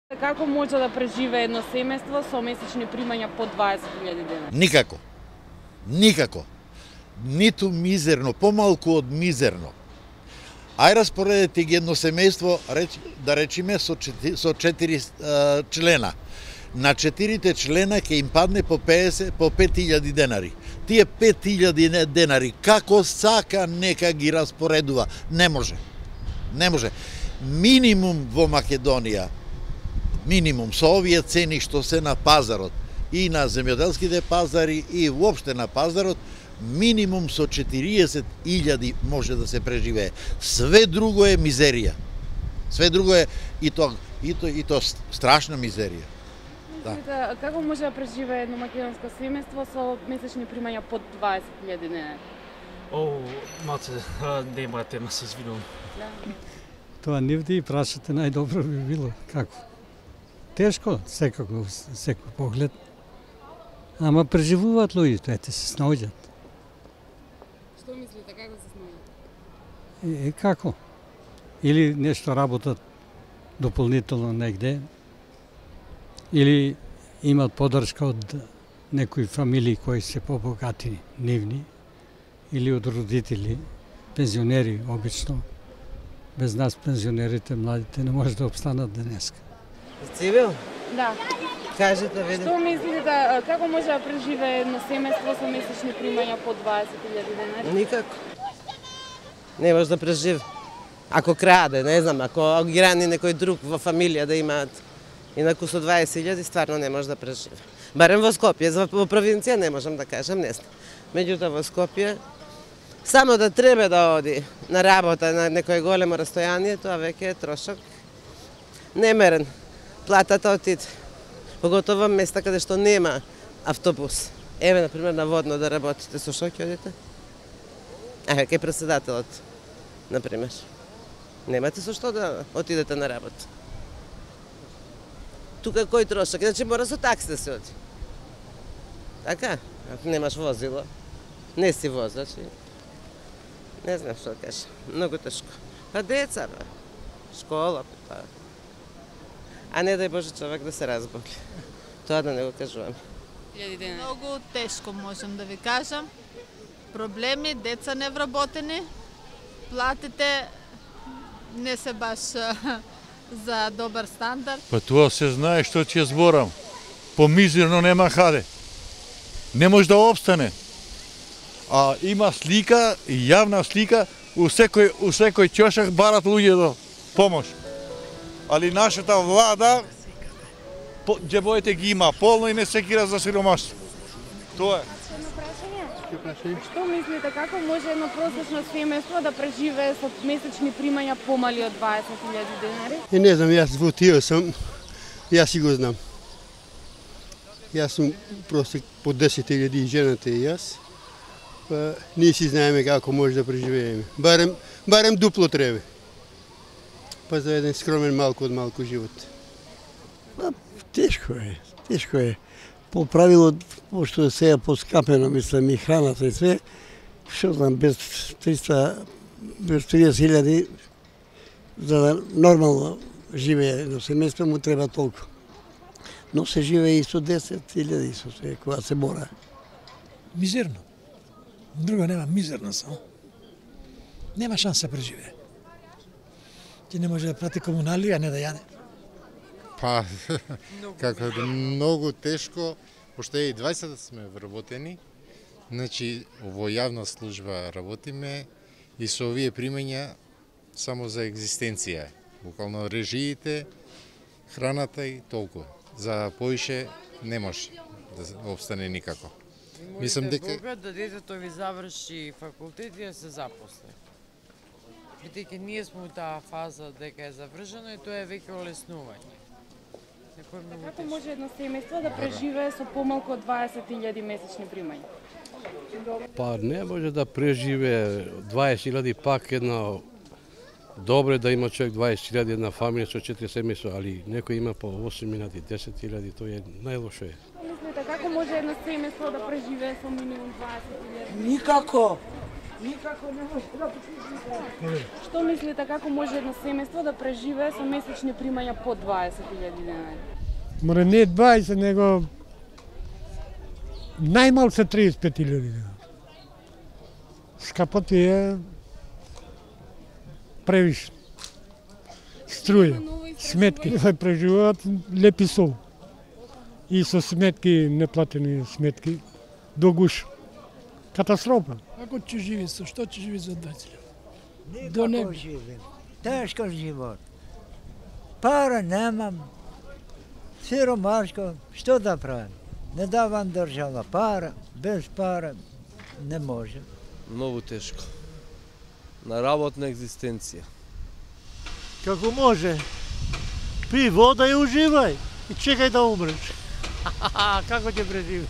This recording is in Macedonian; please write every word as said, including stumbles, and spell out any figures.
Како може да преживее едно семејство со месечни примања под дваесет илјади денари? Никако. Никако. Ниту мизерно, помалку од мизерно. Ај распоредете ги едно семејство, да речиме, со четири, со четири uh, члена. На четирите члена ќе им падне по петдесет, по пет илјади денари. Тие пет илјади денари, како сака нека ги распоредува. Не може. Не може. Минимум во Македонија, минимум со овие цени што се на пазарот и на земјоделските пазари и воопште на пазарот, минимум со четириесет илјади може да се преживее. Све друго е мизерија. Све друго е и то и то и то страшна мизерија. Да. Како може да преживее едно македонско семејство со месечни примања под дваесет илјади денари? О, малце, нема тема, се извинувам. Да. Тоа нивде и прашате најдобро би било. Како? Тешко, секако, секој поглед. Ама преживуваат луѓето, ете се снаоѓат. Што мислите, како се снаоѓат? Е, е како? Или нешто работат дополнително негде, или имат поддршка од некои фамилии кои се побогатини, нивни, или од родители, пензионери обично. Без нас пензионерите, младите не може да обстанат денеска. Цивил? Да. Кажете, види. Што мислите, како може да преживее едно семејство со месечни примања под дваесет илјади денари? Никако. Не може да преживи. Ако краде, не знам, ако ги рани некој друг во фамилија да имаат, инаку со дваесет илјади стварно не може да преживи. Барем во Скопје, во провинција не можам да кажам, не знам. Меѓутоа во Скопје, само да треба да оди на работа на некое големо растојание, тоа веќе е трошок немерен. Платата отиде. Поготово во места каде што нема автобус. Еве, например, на Водно да работите, со што ќе одите? Еве, кај председателот, например. Немате со што да отидете на работа. Тука кој трошок? Значи мора со такси да се оди. Така? Ако немаш возило, не си возач. Не знам што да кажа. Многу тешко. Па деца, бе. Школа, па. А не дај Боже човек да се разболи. Тоа да не го кажувам. Многу тешко можам да ви кажам. Проблеми, деца невработени, платите не се баш за добар стандард. Па тоа се знае што ќе зборам. Помизерно нема хаде. Не може да обстане. А има слика, јавна слика, у секој, у секој ќошак барат луѓе до помош. Али нашата влада, џебоите ги има полно и не се кира за сиромаштво. Тоа е. Што мислите, како може едно просечно семејство да преживее со месечни примања помали од дваесет илјади денари? И не знам, јас во тие сум, јас си го знам. Јас сум просто по десет илјади и жената и јас. Па ние си знаеме како може да преживееме. Барем, барем дупло треба. Па за еден скромен малку од малку живот. Па, тешко е, тешко е. По правило, пошто е сега поскапено, мислам, и храната и све, што знам, без триста, без триесет илјади, за да нормално живее едно семејство, му треба толку. Но се живее и со десет илјади, со све, кога се бора. Мизерно. Друго нема, мизерно само. Нема шанса да преживее. Ти не може да прати комунали, а не да јаде. Па, како да многу тешко, пошто и дваесет сме вработени, значи во јавна служба работиме и со овие примања само за екзистенција. Буквално режиите, храната и толку. За поише не може да обстане никако. Мислам дека Бога да детето ви заврши факултет и да се запосли. Бидејќи ние сме во таа фаза дека е завршено и тоа е веќе олеснување. Како може едно семејство да преживее со помалку од дваесет илјади месечни примања? Па не може да преживее дваесет илјади, пак едно добре да има човек дваесет илјади една фамилија со четири семејства, али некој има по осем илјади, десет илјади, тоа е најлошо е. Мислите, како може едно семејство да преживее со минимум дваесет илјади? Никако. Никако не може да преживее. Што мислите како може едно семејство да преживее со месечни примања под дваесет илјади денари? Море не дваесет, него најмал се тридесет и пет илјади денари. Скапо ти е превише. Струја, сметки, преживуваат лепи сол. И со сметки, неплатени сметки, до гуш. Катастрофа. Како ќе живи со што ќе живи за дваесет илјади? До не живим. Тешко живот. Пара немам. Сиромашко, што да правим? Не давам држава пара, без пара не може. Многу тешко. На работна екзистенција. Како може? Пи вода и уживај и чекај да умреш. Како ќе преживе?